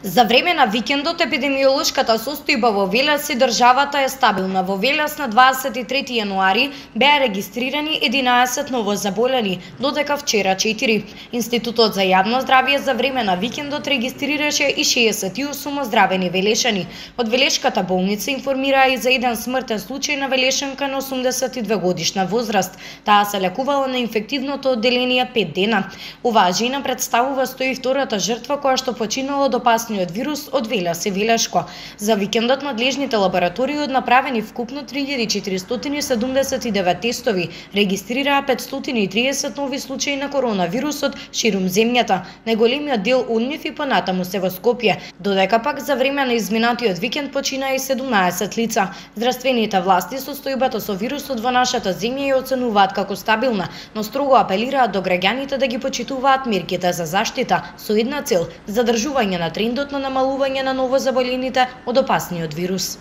За време на викендот епидемиолошката состојба во Велес и државата е стабилна. Во Велес на 23 јануари беа регистрирани 11 новозаболени, додека вчера 4. Институтот за јавно здравје за време на викендот регистрираше и 68 оздравени велешани. Од Велешката болница информираа и за еден смртен случај на велешанка на 82 годишна возраст. Таа се лекувала на инфективното одделение 5 дена. Оваа жена представува 102-та жртва која што починала од опасниот вирус од Велес и Велешко. За викендот надлежните лаборатории направени вкупно 3479 тестови, регистрираа 530 нови случаи на коронавирусот ширум земјата. Најголемиот дел од нив и понатаму се во Скопје, додека пак за време на изминатиот викенд починаа и 17 лица. Здравствените власти состојбата со вирусот во нашата земја ја оценуваат како стабилна, но строго апелираат до граѓаните да ги почитуваат мерките за заштита со една цел: задржување на трендот на намалување на новозаболените од опасниот вирус.